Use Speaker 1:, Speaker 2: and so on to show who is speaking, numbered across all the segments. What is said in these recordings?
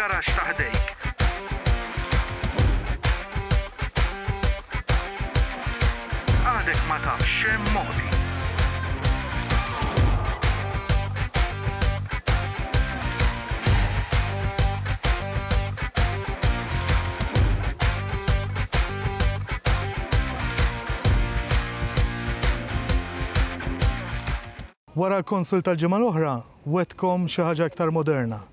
Speaker 1: fil-garaxx ta' ħdejk. Għadek ma tafx x'hemm moħbi.
Speaker 2: Wara l-konsul tal-ġimgħa l-oħra, wegħdtkom xi ħaġa iktar moderna.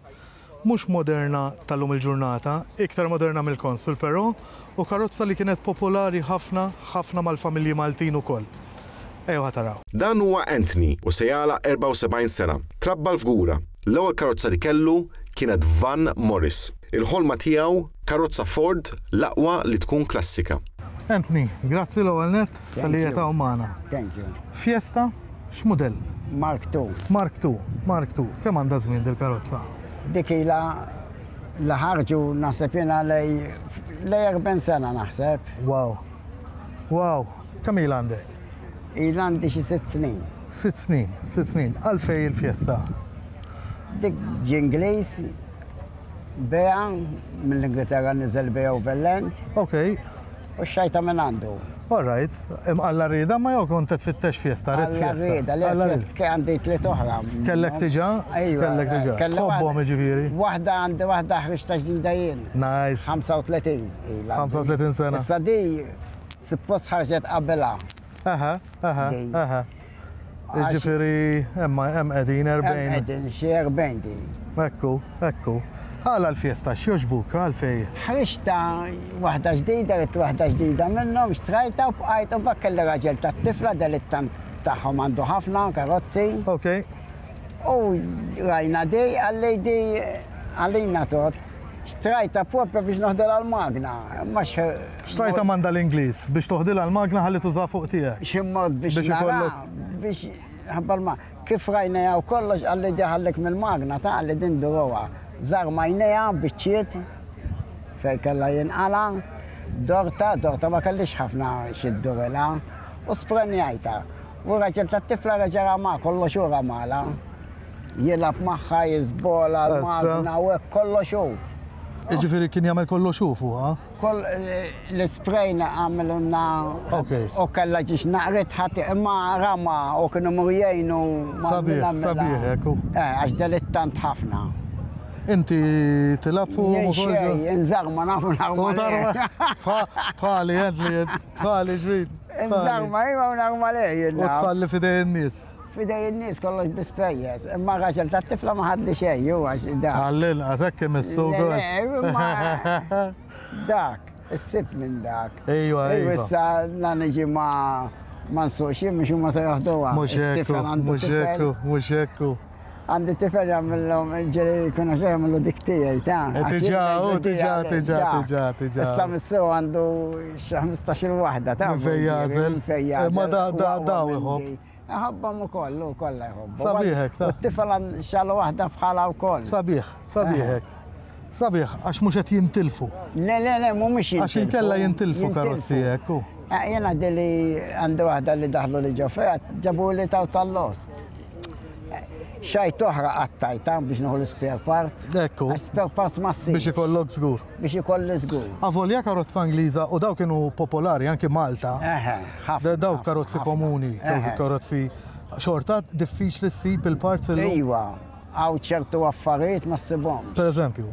Speaker 2: Mhux moderna tal-lum il-ġurnata, iktar moderna mill-konsul però, u karozza li kienet popolari ħafna, ħafna mal-familji Maltin ukoll. Ejjew ħa taraw.
Speaker 3: Dan huwa Anthony u se jagħlaq 74 sena. Trabba l-Fgura. L-ewwel karozza li kellu kienet Van Morris. Il-ħolma tiegħu, karozza Ford, l-aqwa li tkun klassika.
Speaker 2: Anthony, grazzi l-ewwel nett talli qiegħed hawn magħna.
Speaker 4: Thank you.
Speaker 2: Fiesta, x'mudell?
Speaker 4: Mark II.
Speaker 2: Mark II, Mark II. Kemm għandha żmien dil-karozza?
Speaker 4: Dik ilha li ħarġu naħseb jiena lej lej 40 sena naħseb.
Speaker 2: Wow. Wow. Kemm ilha għandek?
Speaker 4: Ilha għandi xi sitt snin.
Speaker 2: Sitt snin, sitt snin. Għalfejn il-Fiesta?
Speaker 4: Dik ġie Ingliż Bea, mill-Ingilterra niżel Bea u Vellent.
Speaker 2: Ok.
Speaker 4: U xajta minn għandu.
Speaker 2: All right. Imqalla rieda ma jew kont qed tfittex fiesta, rid fiesta.
Speaker 4: Alla rieda, le għandi tliet oħra.
Speaker 2: Kellek diġà?
Speaker 4: Ejwa.
Speaker 2: Kellek diġà. Tħobbhom jiġifieri.
Speaker 4: Waħda għandi waħda ħriġta ġdida jien.
Speaker 2: Nice.
Speaker 4: 35 ilha.
Speaker 2: 35 sena.
Speaker 4: Issa di suppost ħarġet qabilha.
Speaker 2: Aha, aha, aha. Jiġifieri hemm hemm qegħdin 40.
Speaker 4: Hemm qegħdin xi 40 din.
Speaker 2: Ekku, ekku. Għala l-fiesta x'jogħġbuk għalfejn?
Speaker 4: Ħriġtha waħda ġdida, ridt waħda ġdida minnhom, xtrajtha u bqajt u mbagħad kelli raġel tat-tifla delittant tagħhom għandu ħafna karozzi.
Speaker 2: Ok.
Speaker 4: U rajna di, qalli di għalina tot. Xtrajtha propja biex noħdilha l-magna. Imma x.
Speaker 2: Xtrajtha m'għandha l-Ingliż biex toħdilha l-magna ħalli tużaha fuq tiegħek.
Speaker 4: Xi mod biex nara biex ħabba l Kif rajnejha u kollox qalli di ħallik mill-magna ta' qalli din duruha. Żarmajnejha biċċiet fejn kellha jinqala', dortha, dortha ma kellhiex ħafna xi ddurilha u sprenjajtha. U r-raġel tat-tifla reġa' rama kollox hu ramalha. Jilgħab magħha, jiżbola l-magna u hekk kollox hu.
Speaker 2: Jiġifieri kien jagħmel kollox hu fuqha?
Speaker 4: Koll l-ispray għamilulna u kellha ġiex naqret ħadd imma rama u kienu imur jgħinu.
Speaker 2: Sabiħ, sabiħ hekk hu.
Speaker 4: Eh, għax delittant ħafna.
Speaker 2: Inti tilgħab fuqhom ukoll?
Speaker 4: Xejn, inżarma nafu narma.
Speaker 2: Bħali, għedli, bħali ġrid.
Speaker 4: Inżarma, iva u narma lej.
Speaker 2: U tħalli f'idej in-nies.
Speaker 4: F'idej in-nies kollox bi spejjeż, imma r-raġel tat-tifla ma ħadli xejn hu għax dak.
Speaker 2: Għall-inqas hekk imissu wkoll.
Speaker 4: Le, imma dak, issib minn dak.
Speaker 2: Ejwa, ejwa.
Speaker 4: Issa la niġi ma ma nsuqx jien mhux huma se joħduha.
Speaker 2: Mhux hekk, mhux hekk, mhux hekk.
Speaker 4: Għandi tifel jagħmilhom ġeli jkun għax jagħmlu dik tiegħi ta'.
Speaker 2: Eh, tiġà, u tiġà, tiġà, tiġà, tiġà.
Speaker 4: Issa missu għandu xi 15-il waħda ta'.
Speaker 2: Minn fejn jagħżel. Ma da da da iħobb.
Speaker 4: Iħobbhom ukoll, hu kollha jħobbhom.
Speaker 2: Sabiħ hekk, ta.
Speaker 4: U t-tifel xalu waħda bħalha wkoll.
Speaker 2: Sabiħ, sabiħ hekk. Sabiħ, għax mhux qed jintilfu.
Speaker 4: Le, le, le, mhumiex jintilfu.
Speaker 2: Għax inkella jintilfu karozzi hekk.
Speaker 4: Eh, jiena dili għandi waħda li daħlu li ġo fiha, ġabuli taw tal-lost. Eh, xajt oħra qattajta biex nieħu l-spare parts.
Speaker 2: Ekku.
Speaker 4: Spare parts ma ssibx.
Speaker 2: Biex ikollok żgur.
Speaker 4: Biex ikolli żgur.
Speaker 2: Avolja karozza Ingliża u daw kienu popolari anki Malta.
Speaker 4: Eħe, ħafna.
Speaker 2: Daw karozzi komuni, karozzi xorta diffiċli ssib il-parts illum.
Speaker 4: Iva, hawn ċertu affarijiet ma ssibhomx.
Speaker 2: Per eżempju?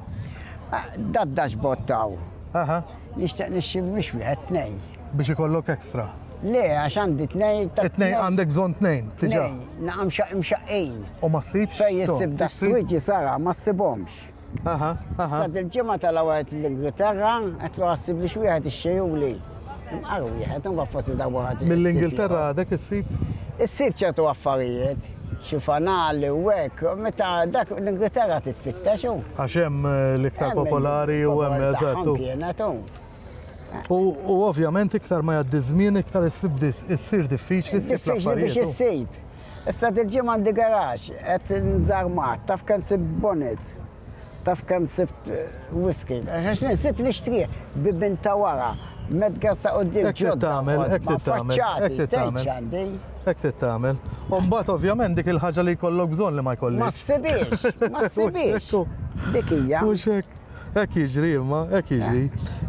Speaker 4: Ah, dat dashboard taw.
Speaker 2: Aha.
Speaker 4: Nixtieq nixxi mhux wieħed tnejn.
Speaker 2: Biex ikollok extra.
Speaker 4: Le, għax għandi tnejn.
Speaker 2: Tnejn għandek bżonn tnejn, tiġa.
Speaker 4: Naqam mxaqqin.
Speaker 2: U ma ssibx?
Speaker 4: Fej issib da switch sara, ma ssibhomx.
Speaker 2: Aha, aha.
Speaker 4: Sa dil-ġimgħa telgħu għed l-Ingilterra, għedtlu ħassib li x'wieħed ixxejjuli. Imqar wieħed, imbagħad forsi darba ħadd.
Speaker 2: Mill-Ingilterra għadek issib?
Speaker 4: Issib ċertu affarijiet, xi fanali u hekk, meta dak l-Ingilterra titfittex hu.
Speaker 2: Għax hemm eh, l-iktar popolari u hemm eżatt.
Speaker 4: Kienet hu.
Speaker 2: U ovvjament iktar ma jgħaddi żmien iktar issib issir diffiċli ssib l-affarijiet.
Speaker 4: Diffiċli biex issib. Issa dil-ġimgħa għandi garaxx, qed nżarmat, taf kemm sibt bonnet, taf kemm sibt whisky. Għax insib nixtrih bibien ta' wara, medgas ta' quddiem
Speaker 2: Hekk trid tagħmel, hekk trid tagħmel, hekk trid tagħmel. Hekk trid tagħmel. U mbagħad ovvjament dik il-ħaġa li jkollok bżonn li ma jkollix.
Speaker 4: Ma ssibhiex, ma ssibhiex. Dik hija.
Speaker 2: Mhux hekk. Hekk jiġri imma, hekk jiġri.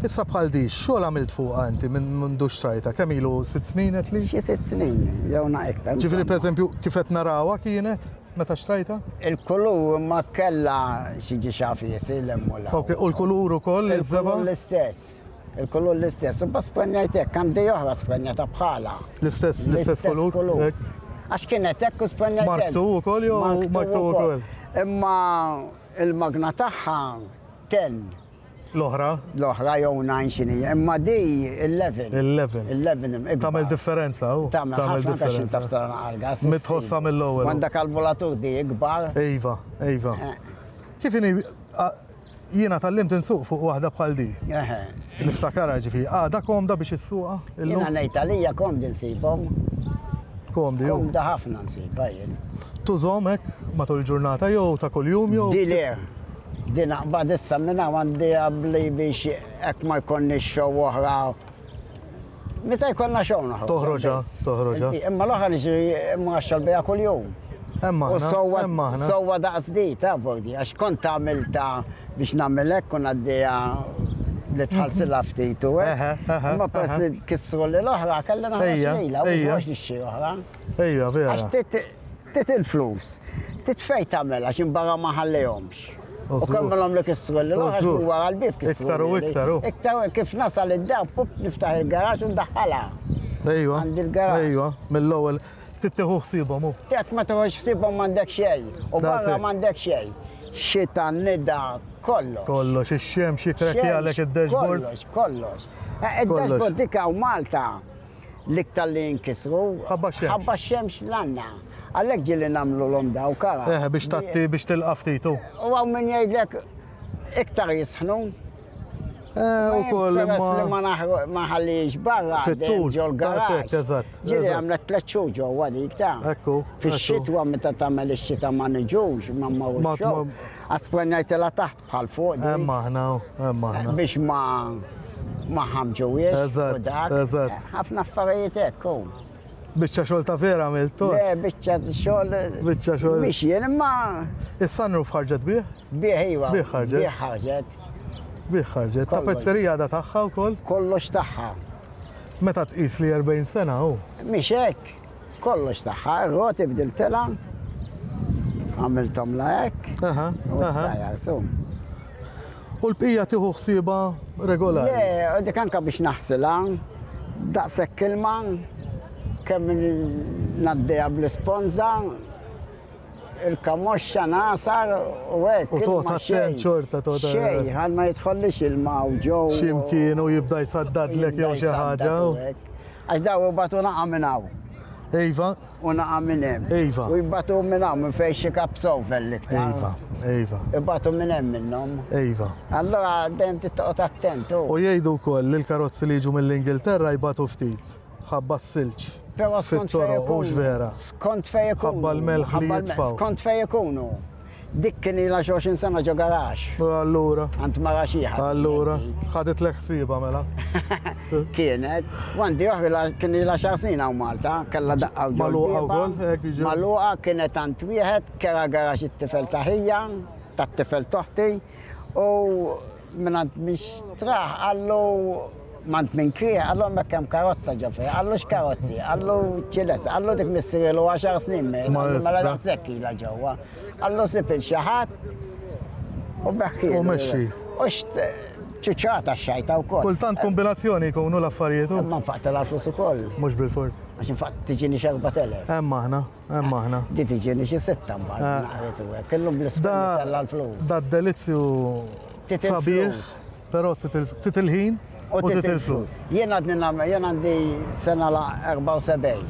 Speaker 2: Issa bħal di, xogħol għamilt fuqha inti minn mindu xtrajtha? Kemm ilu sitt snin għedt li?
Speaker 4: Xi sitt snin, jew na iktar.
Speaker 2: Ġifieri pereżempju kif qed narawha kienet meta xtrajtha?
Speaker 4: Il-kulur ma kellha xi ġie xafiesi 'l hemm u 'l hawn.
Speaker 2: Ok, u l-kulur ukoll, iż-żebgħa?
Speaker 4: Il-kulur l-istess. Il-kulur l-istess. Imbagħad sprenjajt hekk, għandi oħra sprenjata bħalha.
Speaker 2: L-istess, l-istess kulur?
Speaker 4: Għax kienet hekk u sprenjajt hekk.
Speaker 2: Mark II ukoll jew Mark II ukoll?
Speaker 4: Imma il-magna tagħha 10.
Speaker 2: L-oħra?
Speaker 4: L-oħra jew 9 x'inhi, imma di 11.
Speaker 2: 11.
Speaker 4: 11
Speaker 2: Tagħmel differenza u.
Speaker 4: Tagħmel differenza. Taf tara għal-gas.
Speaker 2: Mitħossha mill-ewwel.
Speaker 4: Għandha kalbulatur di ikbar.
Speaker 2: Iva, iva. Kif inhi Jiena tgħallimt insuq fuq waħda bħal di. Niftakarha ġifieri. Għadha komda biex issuqha
Speaker 4: illum? Jiena ngħid għalija komdi nsibhom.
Speaker 2: Komdi.
Speaker 4: Komda ħafna nsibha jien.
Speaker 2: Tużhom hekk matul il-ġurnata jew ta' kuljum jew?
Speaker 4: Di le. Di naqbad issa minn hawn għandi għabli biex hekk ma jkollniex show oħra. Meta jkollna show noħroġ.
Speaker 2: Toħroġha, toħroġha.
Speaker 4: Imma l-oħra niġri mraxxal biha kuljum.
Speaker 2: Hemm aħna, hemm aħna.
Speaker 4: Sewwa daqs di, ta' Bordi, għax kont għamilta biex nagħmel hekk u ngħaddiha li tħallsilha ftit u hekk. Imma peress li kissru li l-oħra kelli naħroġ lilha u mhux nixtri oħra.
Speaker 2: Ejja, vera.
Speaker 4: Għax tit il-flus, tit fejn tagħmel għax imbarra ma ħallihomx. U kemmilhom li kissru li l-oħra wara l-bieb kissru.
Speaker 2: Iktar u iktar u.
Speaker 4: Iktar u kif nasal id-dar, pup niftaħ il-garax u ndaħħalha.
Speaker 2: Ejwa.
Speaker 4: Għandi l-garax.
Speaker 2: Ejwa, mill-ewwel. Trid tieħu ħsiebhom hu.
Speaker 4: Jekk ma tieħux ħsiebhom m'għandek xejn. U barra m'għandek xejn. Xita, nida, kollox.
Speaker 2: Kollox, ix-xemx jikkrekkjalek id-dashboards.
Speaker 4: Kollox, kollox. Id-dashboard dik hawn Malta l-iktar li jinkisru.
Speaker 2: Ħabba x-xemx.
Speaker 4: Ħabba x-xemx l-għandna. Għalhekk ġieli nagħmlulhom dawk ara.
Speaker 2: Eħe biex tgħatti biex tilqa' ftit hu.
Speaker 4: U hawn min jgħidlek iktar jisħnu.
Speaker 2: Eh, u koll
Speaker 4: imma. Li ma nħallix barra.
Speaker 2: Fit-tul.
Speaker 4: Ġol garax.
Speaker 2: Eżatt.
Speaker 4: Ġieli għamlet tlet xhur ġewwa dik ta'.
Speaker 2: Ekku.
Speaker 4: Fix-xitwa meta tagħmel ix-xita ma niġux, ma mmorrux. Għasprenjajtilha taħt bħal fuq.
Speaker 2: Hemm aħna, hemm aħna.
Speaker 4: Biex ma ma ħamġuwiex.
Speaker 2: Eżatt, eżatt.
Speaker 4: Ħafna affarijiet hekk.
Speaker 2: Biċċa xogħol ta' vera għamilt, Tor.
Speaker 4: Le, biċċa xogħol.
Speaker 2: Biċċa xogħol.
Speaker 4: Mhix jien imma.
Speaker 2: Is-sunroof ħarġet bih?
Speaker 4: Bih iva.
Speaker 2: Bih ħarġet.
Speaker 4: Bih ħarġet.
Speaker 2: Bih ħarġet. Tapezzerija għadha tagħha wkoll?
Speaker 4: Kollox tagħha.
Speaker 2: Meta tqis li 40 sena hu.
Speaker 4: Mhix hekk. Kollox tagħha, ir-roti bdiltilha. Għamilthom la hekk.
Speaker 2: Aha, aha.
Speaker 4: U
Speaker 2: U l-bqija tieħu ħsiebha regolari?
Speaker 4: Le, u dik anke biex naħsilha, daqshekk ilma, kemm ngħaddiha bl-isponża, il-kamoxxa nagħsar u hekk.
Speaker 2: U toqgħod attent xorta toqgħod.
Speaker 4: Xejn, ħalli ma jidħollix ilma u ġew.
Speaker 2: Xi mkien u jibda jsaddadlek jew xi ħaġa.
Speaker 4: Għax daw ibatu naqa' minn hawn.
Speaker 2: Iva.
Speaker 4: U naqa' minn hemm.
Speaker 2: Iva.
Speaker 4: U jbatu minn hawn minn fejn xi kapsowfel l-iktar.
Speaker 2: Iva, iva.
Speaker 4: Ibatu minn hemm minnhom.
Speaker 2: Iva.
Speaker 4: Allura dejjem trid toqgħod attent.
Speaker 2: U jgħidu wkoll li l-karozzi li jiġu mill-Ingilterra jbatu ftit ħabba s-silġ.
Speaker 4: Però skont fejn
Speaker 2: Fit-toroq, hux vera.
Speaker 4: Skont fejn ikunu.
Speaker 2: Ħabba l-melħ li jitfgħu.
Speaker 4: Skont fejn ikunu. Dik kien ilha xi 20 sena ġo garaxx.
Speaker 2: U allura?
Speaker 4: Għand mara xi ħadd.
Speaker 2: Allura, ħaditlek ħsiebha mela.
Speaker 4: Kienet. U għandi oħra kien ilha xar snin hawn Malta, kellha daqqa u
Speaker 2: Magħluqa wkoll, hekk jiġi.
Speaker 4: Magħluqa kienet għand wieħed kera garaxx it-tifel ta' ħija, tat-tifel t'oħti, u mingħand min xtrah qallu m'għand min krieha, qallu hemmhekk hemm karozza ġo fiha, qallu x'karozzi, qallu ċilesa, qallu dik missirilu għaxar snin mejjet, qallu mela daqshekk ilha ġewwa. Qallu sib il xi ħadd u beħħielu.
Speaker 2: U mexxi.
Speaker 4: U ċuċata x-xajta wkoll.
Speaker 2: Kultant kombinazzjoni jkunu l-affarijiet.
Speaker 4: Imma nfaqtilha l-flus ukoll.
Speaker 2: Mhux bilfors.
Speaker 4: Għax infaqt tiġini xi 4000.
Speaker 2: Hemm aħna. Hemm aħna.
Speaker 4: Di tiġini xi sitta mbagħad eh. naqret u hekk. Illum bl-isfel tella l-flus.
Speaker 2: Da delizzju sabiħ, però titil ħin u titil flus.
Speaker 4: Jien għadni nagħmel, jien għandi sena la 74.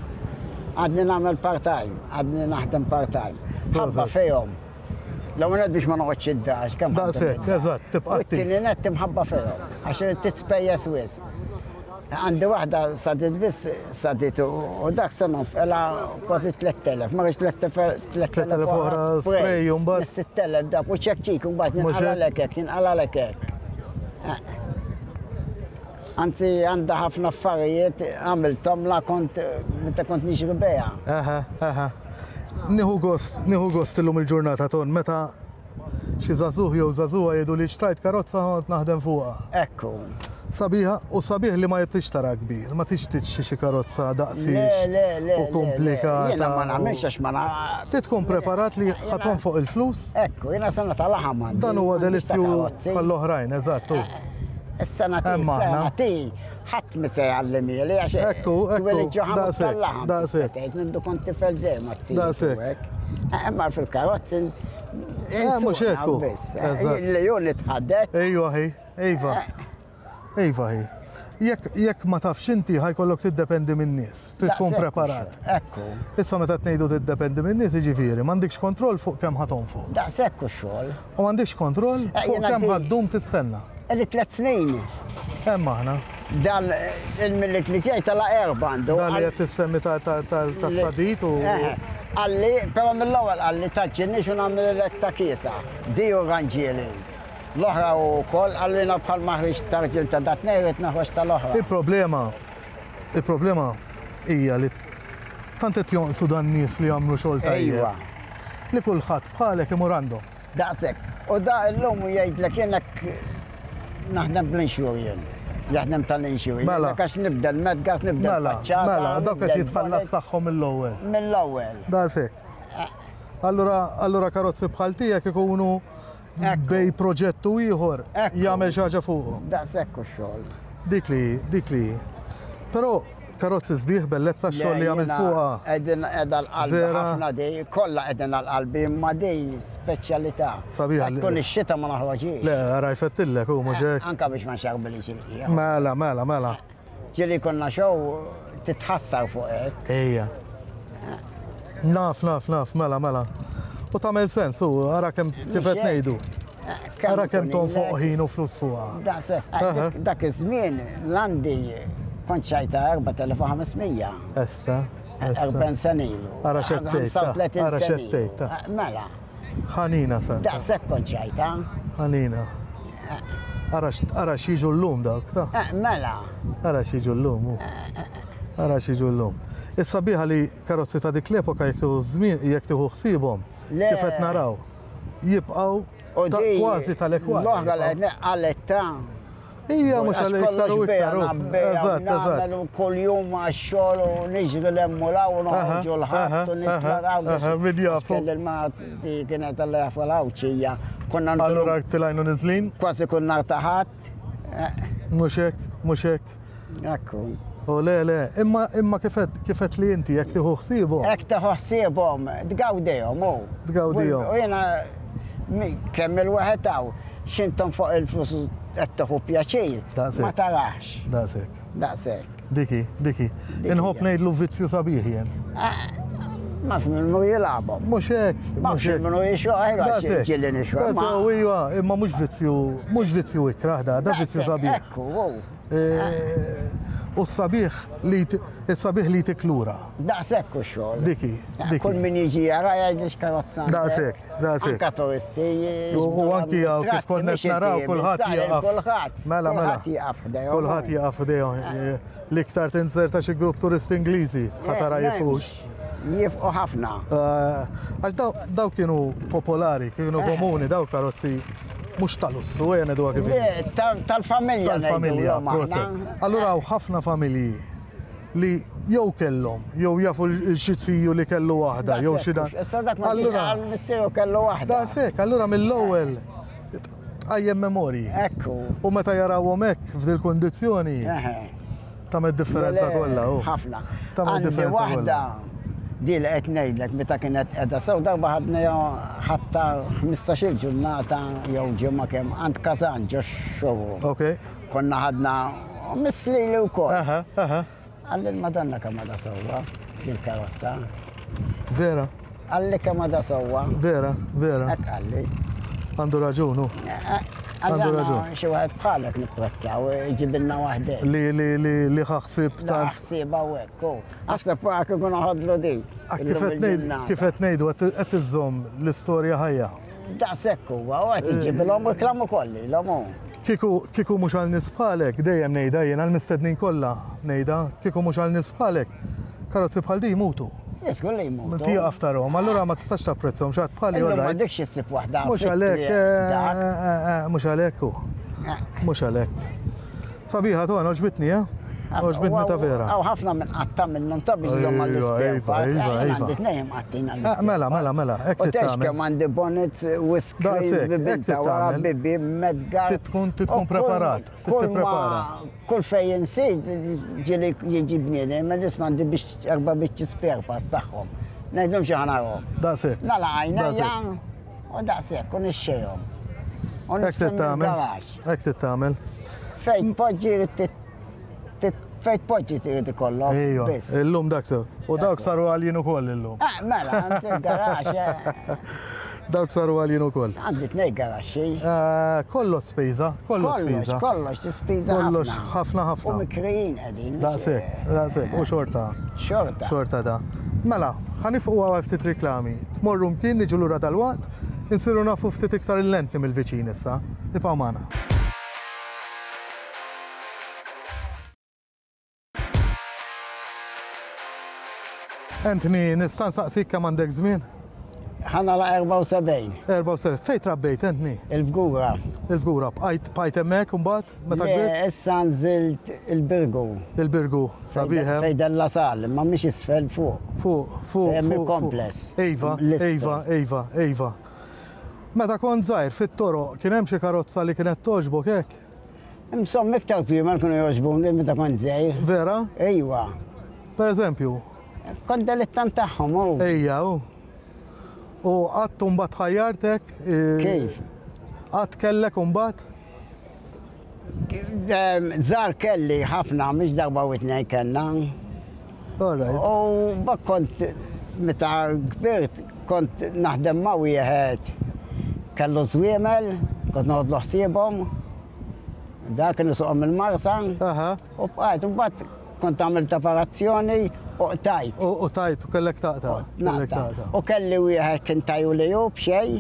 Speaker 4: Għadni nagħmel part-time, għadni naħdem part-time. Ħabba fejhom. L-ewwel nett biex ma noqgħodx id-dar, għax kemm
Speaker 2: Daqshekk, eżatt, tibqa'
Speaker 4: attiv. U t-tieni nett imħabba fihom, għax titspejjeż wisq. Għandi waħda sadit biss sadit u dak se nonfqilha kważi 3000, ma rridx
Speaker 2: 3000 oħra spray u mbagħad.
Speaker 4: 6000 dak u ċekċik u mbagħad jinqalalek hekk, jinqalalek hekk. Anzi għandha ħafna affarijiet għamilthom la kont meta kont nixri beha.
Speaker 2: Aha, aha. Nieħu gost, nieħu gost illum il-ġurnata ton meta. xi żagħżugħ jew żagħżugħa jgħidu li xtrajt karozza ħa noqgħod naħdem fuqha.
Speaker 4: Ekku.
Speaker 2: Sabiħa u sabiħ li ma tridx tara kbir, ma tridx tixtri xi karozza daqsiex
Speaker 4: Le, le, le.
Speaker 2: u komplikata.
Speaker 4: Jiena ma nagħmilx għax ma na.
Speaker 2: Trid tkun preparat li ħa tonfoq il-flus.
Speaker 4: Ekku, jiena sena ta' laħam għandi.
Speaker 2: Dan huwa delizzju bħall-oħrajn, eżatt.
Speaker 4: Is-sena ti, is-sena ti, ħadd mi se jgħallimieli għax
Speaker 2: Ekku, ekku, daqshekk, daqshekk.
Speaker 4: Tgħid minn kont tifel żgħir ma tsir.
Speaker 2: Daqshekk.
Speaker 4: Imma fil-karozzi
Speaker 2: Eh, mhux hekk.
Speaker 4: Li hu nitħaddet.
Speaker 2: Ejwa hi, iva. Iva hi. Jekk jekk ma tafx inti ħa jkollok tiddependi min-nies. Trid tkun preparat.
Speaker 4: Ekku.
Speaker 2: Issa meta tnejdu tiddependi min-nies jiġifieri m'għandikx kontroll fuq kemm ħa tonfoq.
Speaker 4: Daqshekk hu x-xogħol.
Speaker 2: U m'għandikx kontroll eh, fuq kemm ħa ddum tistenna.
Speaker 4: Li tlet snin.
Speaker 2: Hemm aħna.
Speaker 4: Dan il-millit li ġej tala erba' għandu.
Speaker 2: Dan li qed tissemmi tas-sadit u.
Speaker 4: Qalli, però mill-ewwel qalli taġġilniex u nagħmel ta' kiesa. Di u ranġieli. L-oħra hu wkoll qalilna bħal ma ħriġt ta' rġiel ta' dat-tnejn rrid noħroġ tal-oħra.
Speaker 2: Il-problema, il-problema hija li tant qed jonqsu dan-nies li jagħmlu xogħol tajjeb.
Speaker 4: Ejwa.
Speaker 2: Li kulħadd bħalek imur għandhom.
Speaker 4: Daqshekk. U da illum jgħidlek jien hekk naħdem bl-insure jien. Jaħdem tal-insure.
Speaker 2: Mela.
Speaker 4: Għax nibda l-medgard, nibda
Speaker 2: Mela,
Speaker 4: l-faċċata.
Speaker 2: mela, dawk qed jitħallas tagħhom mill-ewwel.
Speaker 4: Mill-ewwel.
Speaker 2: Daqshekk. Allura, allura karozzi bħal tiegħek ikunu Bej proġett u ieħor jagħmel xi ħaġa fuqhom.
Speaker 4: Daqshekk u xogħol.
Speaker 2: Dik li dik li. Però karozzi sbieħ bellezza x-xogħol li għamilt fuqha.
Speaker 4: Qegħdin qiegħda l-qalbi ħafna di, kollha qegħdin għall-qalbi imma di speċjalità.
Speaker 2: Sabiħa.
Speaker 4: Tkun ix-xita ma noħroġhiex.
Speaker 2: Le, ara jfettillek hu mhux hekk.
Speaker 4: Anke biex ma nxarbilix il-qiegħ.
Speaker 2: Mela, mela, mela.
Speaker 4: Ġieli konna show titħassar fuq hekk.
Speaker 2: Ejja. Naf, naf, naf, mela, mela. U tagħmel sens, u ara kemm kif qed ngħidu. Ara kemm tonfoq ħin u flus fuqha.
Speaker 4: Daqshekk. Dak iż-żmien l-għandi kont xajta 4500.
Speaker 2: Estra.
Speaker 4: 40 sena ilu.
Speaker 2: Ara xettejt. Ara xettejt.
Speaker 4: Mela.
Speaker 2: Ħanina santa.
Speaker 4: Daqshekk kont xajta.
Speaker 2: Ħanina. Ara ara x'jiġu llum dawk ta'.
Speaker 4: Eh, mela.
Speaker 2: Ara x'jiġu llum. Ara x'jiġu llum. Is-sabiħa li karozzi ta' dik l-epoka jekk tieħu żmien jekk tieħu ħsiebhom kif qed naraw jibqgħu kważi tal-ekwal.
Speaker 4: L-oħra li qalet ta'
Speaker 2: Ija, mhux għal iktar u iktar.
Speaker 4: Eżatt, eżatt. Kull jum għax-xogħol u niġri l-hemm u l-hawn u noħorġu l-ħadd u nitlaraw.
Speaker 2: Min jafu.
Speaker 4: Kelli l-mati kienet alla jafu l-Għawdxija. Konna
Speaker 2: Allura tilajnu niżlin?
Speaker 4: Kważi kull nhar ta' Ħadd.
Speaker 2: Mhux hekk, mhux hekk.
Speaker 4: Ekku.
Speaker 2: U le, le, imma imma kif qed li inti jekk tieħu ħsiebhom.
Speaker 4: Hekk tieħu ħsiebhom, tgawdihom hu.
Speaker 2: Tgawdihom.
Speaker 4: U jiena kemm il-wieħed hawn x'intom fuq il-flus qed tieħu pjaċir. Ma tarax.
Speaker 2: Daqshekk.
Speaker 4: Daqshekk.
Speaker 2: Diki, diki. Inħobb ngħidlu vizzju sabiħ jien.
Speaker 4: Ma minnu jilagħbhom.
Speaker 2: Mhux hekk.
Speaker 4: Ma minnu jixoħ, ġieli nixoħ.
Speaker 2: Daqshekk, iva, imma mhux vizzju, mhux vizzju ikrah da, da vizzju sabiħ.
Speaker 4: Ekku, wow.
Speaker 2: U s-sabiħ li s-sabiħ li jtik lura.
Speaker 4: Daqshekk u xogħol.
Speaker 2: Diki, diki.
Speaker 4: Kull min jiġi jara jgħid x'karozza.
Speaker 2: Daqshekk, daqshekk.
Speaker 4: Anka turisti.
Speaker 2: U anki hawn kif konna qed naraw kulħadd jieqaf.
Speaker 4: Kulħadd.
Speaker 2: Mela, mela.
Speaker 4: Kulħadd jieqaf ħdejhom.
Speaker 2: Kulħadd jieqaf ħdejhom. L-iktar tinzerta xi grupp turisti Ingliżi ħa tara jifux.
Speaker 4: Jifqu ħafna.
Speaker 2: Għax daw kienu popolari, kienu komuni, daw karozzi mhux tal-lussu, ejja ngħiduha kif inhi.
Speaker 4: Tal-familja.
Speaker 2: Tal-familja, proset. Allura hawn ħafna familji li jew kellhom, jew jafu xi ziju li kellu waħda, jew xi dan.
Speaker 4: Issa dak ma
Speaker 2: Allura
Speaker 4: missieru kellu waħda.
Speaker 2: Daqshekk, allura mill-ewwel tqajjem memorji.
Speaker 4: Ekku.
Speaker 2: U meta jarawhom hekk f'dil kundizzjoni. Tagħmel differenza kollha.
Speaker 4: Ħafna.
Speaker 2: Tagħmel differenza
Speaker 4: waħda di li qed ngħidlek meta kienet qiegħda sew darba ħadna ħatta 15-il ġurnata jew ġimgħa kemm għand Kazan ġo showroom.
Speaker 2: Ok.
Speaker 4: Konna ħadna mislili wkoll.
Speaker 2: Aha, aha.
Speaker 4: Qalli l-Madonna kemm għadha sewwa il-karozza.
Speaker 2: Vera.
Speaker 4: Qalli kemm għadha sewwa.
Speaker 2: Vera, vera.
Speaker 4: Hekk qalli.
Speaker 2: Għandu raġun hu.
Speaker 4: Għandu raġun. Xi wieħed bħalek nipprezzaw, ġibilna waħdek.
Speaker 2: Li li li li ħaħsib
Speaker 4: tant. Ħsieb hawnhekk hu. Aħseb waqt kif ikun ħadlu din.
Speaker 2: Kif qed ngħidu qed iżżomm l-istorja ħajja.
Speaker 4: Daqshekk huwa, u qed iġibilhom reklam ukoll lilhom hu.
Speaker 2: Kieku kieku mhux għal nies bħalek, dejjem ngħidha jien għall-mistednin kollha ngħidha, kieku mhux għal nies bħalek, karozzi bħal din jmutu.
Speaker 4: Żgur li jmutu.
Speaker 2: Tieqaf tarahom, allura ma tistax tapprezzahom xi ħadd bħali
Speaker 4: Illum m'għandekx issib waħda.
Speaker 2: Mhux għalhekk, eh, eh, eh, mhux għalhekk hu. Mhux għalhekk. Sabiħa ton, għoġbitni, eh? Għoġbitni ta' vera.
Speaker 4: Hawn ħafna minn qatta minnhom ta' biex żomm għall-ispare
Speaker 2: Iva, iva, iva.
Speaker 4: Għandi tnejn qattin għall
Speaker 2: Mela, mela, mela, hekk
Speaker 4: U tgħix kemm għandi bonnet whiskers, bibin ta' wara, bibi, medgar.
Speaker 2: Tkun preparat, tipprepara.
Speaker 4: Kull fejn insib ġieli jiġi bniedem, ma nisma' għandi biex erba' biċċi spare parts tagħhom. Ngħidlhom xi ħanarhom.
Speaker 2: Daqshekk.
Speaker 4: Nagħlaq għajnejja u daqshekk u nixxejhom. U
Speaker 2: Hekk trid tagħmel. Hekk trid tagħmel.
Speaker 4: Fejn tpoġġi fejn tpoġġi trid ikollok.
Speaker 2: Ejwa, illum dak sew. U dawk saru għaljin ukoll illum.
Speaker 4: Ah, mela, għandi il-garax. Eh.
Speaker 2: Dawk saru għaljin ukoll.
Speaker 4: Għandi tnej garaxxi.
Speaker 2: Eh, kollox spiża, kollox spiża.
Speaker 4: Kollox, tispiża.
Speaker 2: Kollox, ħafna ħafna.
Speaker 4: U mikrijin qegħdin.
Speaker 2: Daqshekk, daqshekk, u xorta.
Speaker 4: Xorta.
Speaker 2: Xorta da. Mela, ħanifqu għal ftit riklami. Tmorru mkien niġu lura dal-waqt, insiru nafu ftit iktar il-lentni mill-viċin issa. Ibqgħu magħna. Anthony, nista' nsaqsik kemm għandek żmien?
Speaker 4: Ħa nagħlaq 74.
Speaker 2: 74. Fejn trabbejt, Anthony?
Speaker 4: Il-Fgura.
Speaker 2: Il-Fgura. Bqajt bqajt hemmhekk imbagħad meta
Speaker 4: kbirt? Le, issa nżilt il-Birgu.
Speaker 2: Il-Birgu, sabiħ hemm.
Speaker 4: Fejn Della Sal, imma mhix isfel fuq.
Speaker 2: Fuq, fuq,
Speaker 4: Hemm il-kompless.
Speaker 2: Iva, iva, iva, iva. Meta kont żgħir fit-toroq kien hemm xi karozza li kienet togħġbok hekk?
Speaker 4: Insomma, iktar żwiemel kienu jogħġbuni meta kont żgħir.
Speaker 2: Vera?
Speaker 4: Ejwa.
Speaker 2: Per eżempju?
Speaker 4: Kont delittant tagħhom u.
Speaker 2: Ejja, u. U qatt imbagħad ħajjartek?
Speaker 4: Kif?
Speaker 2: Qatt kellek imbagħad?
Speaker 4: Żgħar kelli ħafna, mhix darba u tnejn kellna.
Speaker 2: All right.
Speaker 4: U bak kont meta kbirt kont naħdem ma' wieħed kellu żwiemel, kont noħodlu ħsiebhom. Dak kien isuqhom il-Marsa. U bqajt, u mbagħad kont għamilt operazzjoni u qtajt.
Speaker 2: U qtajt u kellek taqta'. Kellek taqta'.
Speaker 4: U kelli wieħed kien taju li hu b'xejn,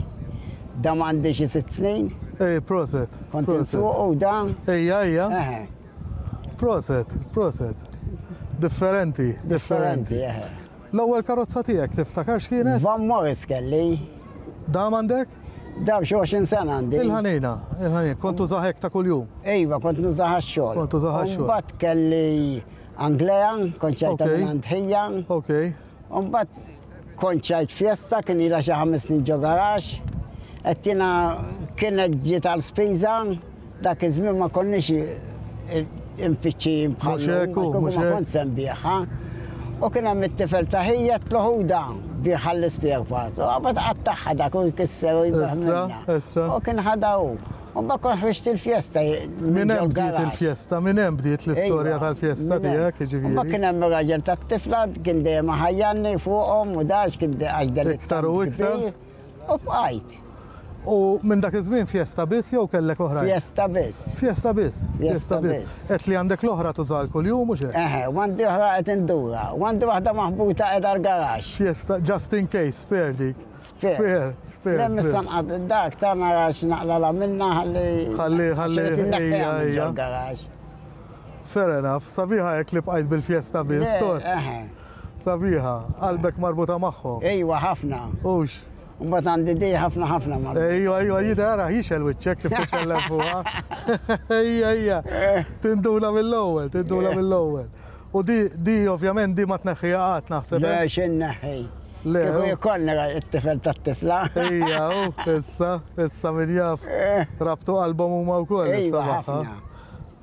Speaker 4: dam għandi xi sitt snin.
Speaker 2: Ej, proset.
Speaker 4: Kont insuqu da.
Speaker 2: Ejja, ejja. Proset, proset. Differenti,
Speaker 4: differenti.
Speaker 2: L-ewwel karozza tiegħek tiftakar x'kienet?
Speaker 4: Van Morris kelli.
Speaker 2: Dam għandek?
Speaker 4: Dam xi 20 sena għandi.
Speaker 2: Il-ħanina, il-ħanina. Kont tużaha hekk ta' kuljum?
Speaker 4: Iva, kont nużaha għax-xogħol.
Speaker 2: Kont tużaha għax-xogħol.
Speaker 4: Mbagħad kelli Anglea, kont xejta minn għand ħija.
Speaker 2: Okej.
Speaker 4: U mbagħad kont xajt Fiesta, kien ilha xi ħames snin ġo garaxx. Qed jiena kienet ġiet għal spiża, dak iż-żmien ma konniex infittxijin bħal
Speaker 2: Mhux hekk hu, mhux
Speaker 4: ma
Speaker 2: hekk.
Speaker 4: kont se nbigħha. U kien hemm it-tifel ta' ħija għedtlu ħudha bigħha l-ispare parts. U qabad qattagħha dak u jkisser u jbigħ
Speaker 2: Issa,
Speaker 4: minnha.
Speaker 2: issa.
Speaker 4: U kien ħadha hu. U mbagħad kont ħriġt il-Fiesta
Speaker 2: Minn hemm bdiet il-Fiesta, minn hemm bdiet l-istorja tal-Fiesta tiegħek, jiġifieri.
Speaker 4: U mbagħad kien hemm ir-raġel tat-tifla, kien dejjem iħajjarni fuqhom u da għax kien għax dan
Speaker 2: Iktar u iktar.
Speaker 4: U bqajt.
Speaker 2: U minn dak iż-żmien Fiesta biss jew kellek oħrajn?
Speaker 4: Fiesta biss.
Speaker 2: Fiesta biss. Fiesta biss. Għedt li għandek l-oħra tużaha kuljum mhux hekk?
Speaker 4: Eħe, u għandi oħra qed indurha. U għandi waħda maħbuta qiegħda l-garaxx.
Speaker 2: Fiesta, just in case, spare dik. Spare, spare.
Speaker 4: Le missa nqad dak ta' nara x'naqlala minna ħalli.
Speaker 2: Ħalli, ħalli.
Speaker 4: Ejja, ejja. Garax.
Speaker 2: Fair enough, sabiħa hekk li bqajt bil-fjesta biss, tor. Sabiħa, qalbek marbuta magħhom.
Speaker 4: Ejwa ħafna.
Speaker 2: Hux.
Speaker 4: Mbagħad għandi di ħafna ħafna marbuta.
Speaker 2: Ejwa, ejwa, jidher ara jixel wiċċek kif titkellem fuqha. Ejja, ejja. Tinduna mill-ewwel, tinduna mill-ewwel. U di, di ovvjament di ma tneħħiha qatt naħseb.
Speaker 4: Le, x'inneħħi.
Speaker 2: Le.
Speaker 4: Kieku jkollni it-tifel tat-tifla.
Speaker 2: Ejja, u issa, issa min jaf.
Speaker 4: Eh.
Speaker 2: Rabtu qalbhom huma wkoll issa magħha.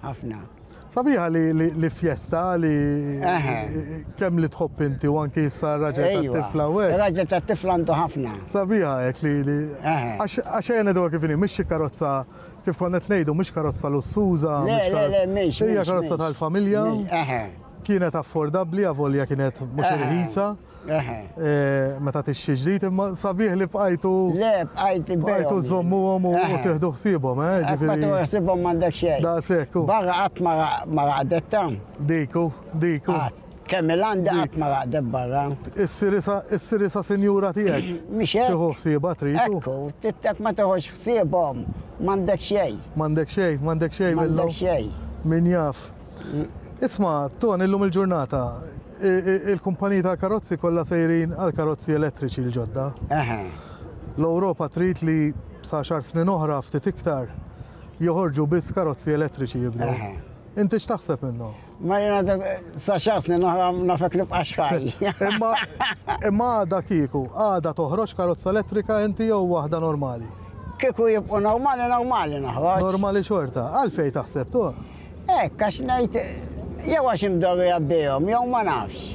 Speaker 4: Ħafna.
Speaker 2: Sabiħa li li fjesta li kemm li tħobb inti u anki issa r-raġel tat-tifla u hekk.
Speaker 4: Ir-raġel tat-tifla għandu ħafna.
Speaker 2: Sabiħa hekk li li għax ejja ngħiduha kif inhi mhix xi karozza kif konna qed ngħidu mhix karozza lussuża.
Speaker 4: Le, le, le, mhix.
Speaker 2: Hija karozza tal-familja. Kienet affordabbli avolja kienet mhux irħisa. Meta tixtri ġdid, imma sabiħ li bqajtu.
Speaker 4: Le, bqajt
Speaker 2: Bqajtu żommuhom u tieħdu ħsiebhom, eh,
Speaker 4: ġifieri. Ma tieħu ħsiebhom m'għandek xejn.
Speaker 2: Daqshekk.
Speaker 4: Barra qatt ma raqdet ta.
Speaker 2: Diku, diku.
Speaker 4: Kemm il-għandi qatt ma raqdet barra.
Speaker 2: Issir isa sinjura tiegħek.
Speaker 4: Mhix hekk.
Speaker 2: Tieħu ħsiebha trid.
Speaker 4: Ekku, tittek ma tieħux ħsiebhom, m'għandek xejn.
Speaker 2: M'għandek xejn, m'għandek xejn.
Speaker 4: M'għandek xejn.
Speaker 2: Min jaf. Isma', Tony, illum il-ġurnata. Il-kumpaniji tal-karozzi kollha sejrin għal karozzi elettriċi l-ġodda. L-Ewropa trid li sa għaxar snin oħra ftit iktar joħorġu biss karozzi elettriċi jibdew. Inti x'taħseb minnhom?
Speaker 4: Ma jiena dak sa xar snin oħra nafek nibqa' xħaj.
Speaker 2: Imma imma għada kieku, għada toħroġ karozza elettrika inti jew waħda normali?
Speaker 4: Kieku jibqu normali, normali noħroġ.
Speaker 2: Normali xorta. Għalfejn taħseb tu?
Speaker 4: Hekk, għax ngħid, jew għax imdorrija bihom, jew ma nafx.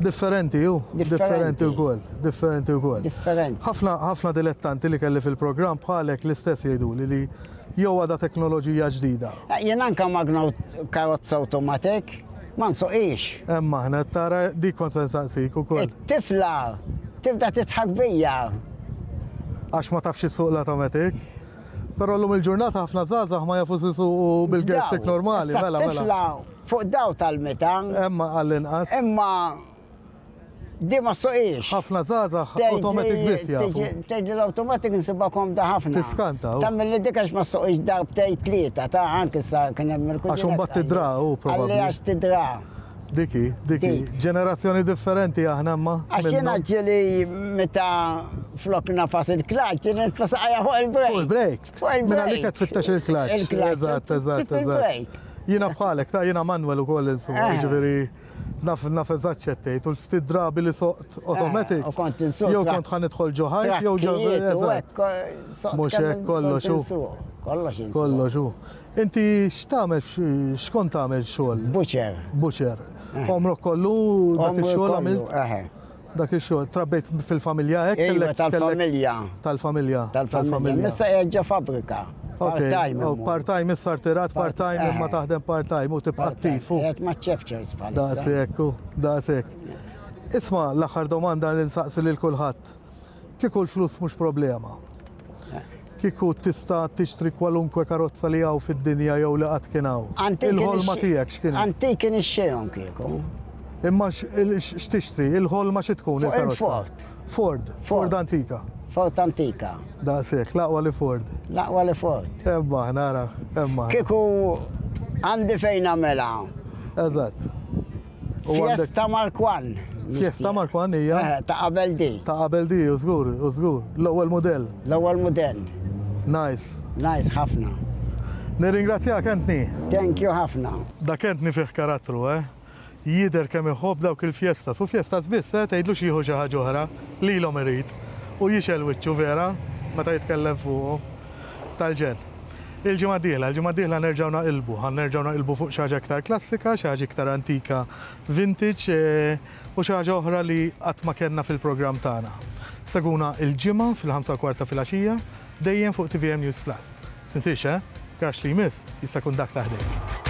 Speaker 2: Differenti hu, differenti wkoll, differenti wkoll.
Speaker 4: Differenti.
Speaker 2: Ħafna ħafna dilettanti li kelli fil-programm bħalek l-istess jgħiduli li jew għadha teknoloġija ġdida.
Speaker 4: Jien anke magna karozza automatic ma nsuqhiex.
Speaker 2: Hemm aħna, tara dik kont se nsaqsik ukoll.
Speaker 4: It-tifla tibda tidħak bija.
Speaker 2: Għax ma tafx issuq l-automatic? Però llum il-ġurnata ħafna żgħażagħ ma jafux isuqu bil-gear stick normali, mela mela.
Speaker 4: Tifla fuq daw tal-meta.
Speaker 2: Imma għall-inqas.
Speaker 4: Imma di ma ssuqhiex.
Speaker 2: Ħafna żgħażagħ automatic biss jafu.
Speaker 4: Tgħidli l-automatic insibha komda ħafna.
Speaker 2: Tiskanta.
Speaker 4: Tagħmel li dik għax ma ssuqhiex darbtejn tlieta ta' anke sa kien hemm il
Speaker 2: Għax imbagħad tidra hu probabbli.
Speaker 4: Għalli għax tidra.
Speaker 2: Dik hi, dik hi. Ġenerazzjoni differenti aħna imma.
Speaker 4: Għax jiena ġieli meta flok nafas il-klaċ, jiena nitfa' saqajja fuq il-brejk.
Speaker 2: Fuq il-brejk?
Speaker 4: Fuq il-brejk.
Speaker 2: Minn għalik qed tfittex il-klaċ.
Speaker 4: Il-klaċ.
Speaker 2: Eżatt, eżatt, eżatt. Jiena bħalek, ta' jiena manual ukoll insomma,
Speaker 4: Eh.
Speaker 2: jiġifieri naf naf eżatt x'qed tgħid u l-ftit drabi li soqt automatic.
Speaker 4: Eh, u kont insuq
Speaker 2: Jew kont ħa nidħol ġo ħajt jew ġo
Speaker 4: eżatt.
Speaker 2: Mhux hekk kollox hu.
Speaker 4: Kollox insuq.
Speaker 2: Kollox hu. Inti x'tagħmel x'kont tagħmel xogħol?
Speaker 4: Butcher.
Speaker 2: Butcher. Għomrok kollu dak ix-xogħol għamilt? Dak ix-xogħol. Trabbejt fil-familja hekk?
Speaker 4: Iva, tal-familja.
Speaker 2: Tal-familja.
Speaker 4: Tal-familja. Issa qiegħed ġo fabbrika. Part-time.
Speaker 2: Oh, part-time issa rtirat part-time imma taħdem part-time u tibqa' attiv.
Speaker 4: Qiegħed ma' ċefċers bħalissa.
Speaker 2: Daqshekk, daqshekk. Isma' l-aħħar domanda li nsaqsi lil kulħadd. Kieku l-flus mhux problema. Kieku tista' tixtri kwalunkwe karozza li hawn fid-dinja jew li qatt kien hawn. Il-ħolma tiegħek x'kienet?
Speaker 4: Antiki nixxihom kieku.
Speaker 2: Imma x'tixtri? Il-ħolma xi tkun il-karozza?
Speaker 4: Ford.
Speaker 2: Ford, Ford antika.
Speaker 4: Ford antika.
Speaker 2: Daqshekk, l-aqwa li Ford.
Speaker 4: L-aqwa li Ford.
Speaker 2: Hemm aħna, ara, hemm aħna.
Speaker 4: Kieku għandi fejn nagħmilha.
Speaker 2: Eżatt.
Speaker 4: Fiesta Mark One.
Speaker 2: Fiesta Mark One hija?
Speaker 4: Eh, ta' qabel di.
Speaker 2: Ta' qabel di, u żgur, u żgur. L-ewwel mudell.
Speaker 4: L-ewwel mudell.
Speaker 2: Nice.
Speaker 4: Nice ħafna.
Speaker 2: Nirringrazzjak Anthony.
Speaker 4: Thank you ħafna.
Speaker 2: Dak Anthony fih karattru, eh? Jidher kemm iħobb dawk il-fiestas. U fiestas biss, eh? Tgħidlux jieħu xi ħaġa oħra. Lilhom irid. U jixgħel wiċċu vera meta jitkellem fuqhom. Tal-ġenn. Il-ġimgħa d-dieħla, il-ġimgħa d-dieħla nerġgħu naqilbu, ħa nerġgħu naqilbu fuq xi ħaġa iktar klassika, xi ħaġa iktar antika vintage u xi ħaġa oħra li qatt ma kellna fil-programm tagħna. Seguna il-ġimgħa fil-5 u kwart ta' filgħaxija dejjem fuq tvm News Plus. Tinsiex, eh? Garaxx li jmiss jista' jkun dak ta' ħdejk.